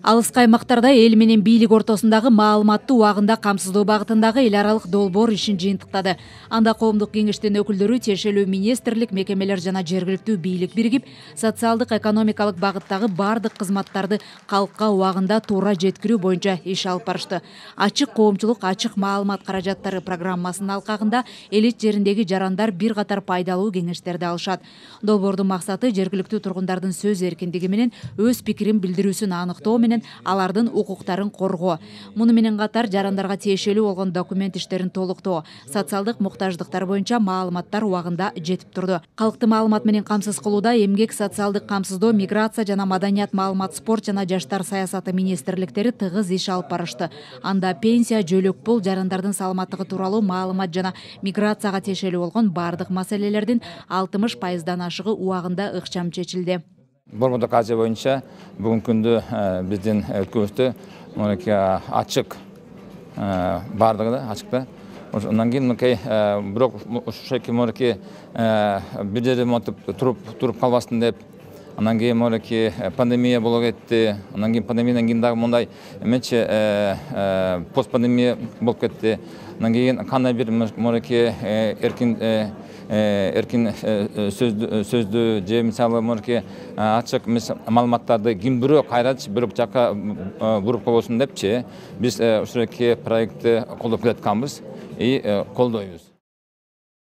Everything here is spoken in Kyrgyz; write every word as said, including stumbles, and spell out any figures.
Алыскы аймактарда эл менен бийлик ортосундагы маалыматты убагында камсыздоо багытындагы эл аралык долбоор ишин жыйынтыктады. Анда коомдук кеңештин өкүлдөрү, тиешелүү министрлик, мекемелер жана жергиликтүү бийлик биригип, социалдык экономикалык багыттагы бардык кызматтарды калкка убагында туура жеткирүү боюнча иш алып барышты. Ачык коомчулук, ачык маалымат каражаттары программасынын алкагында элит жериндеги жарандар бир катар пайдалуу кеңештерди алышат. Долбоордун максаты жергиликтүү тургундардын сөз эркиндиги менен өз пикирин билдирүүсүн аныктоо менен алардын укуктарын коргоо. Муну менен катар жарандарга тиешелүү болгон документ иштерин толуктоо, социалдык муктаждыктар боюнча маалыматтар убагында жетип турду. Калкты маалымат менен камсыз кылууда эмгек, социалдык камсыздоо, миграция жана маданият, маалымат, спорт жана жаштар саясаты министрликтери тыгыз иш алып барышты. Анда пенсия, жөлөк пул, жарандардын саламаттыгы тууралуу маалымат жана миграцияга тиешелүү болгон бардык маселелердин алтымыш пайыздан ашыгы убагында ыкчам чечилди. Борбордук Азия боюнча бүгүнкү күндө биздин өлкөбүздө мынакей ачык бардыгы да ачыкта. Андан кийин мынакей бирок ушул мынакей бир жерде монтип туруп туруп калбасын деп, андан кийин мынакей пандемия болуп кетти. Андан кийин пандемиядан кийин дагы мындай эмечи постпандемия болуп кетти. Андан кийин кандай бир мынакей эркин эркин сөздү же мисалы мынакей ачык маалыматтарды ким бирөө кайрач бир жакка буруп койбосун депчи биз ушул проектти колдоп келатканбыз и колдойбуз.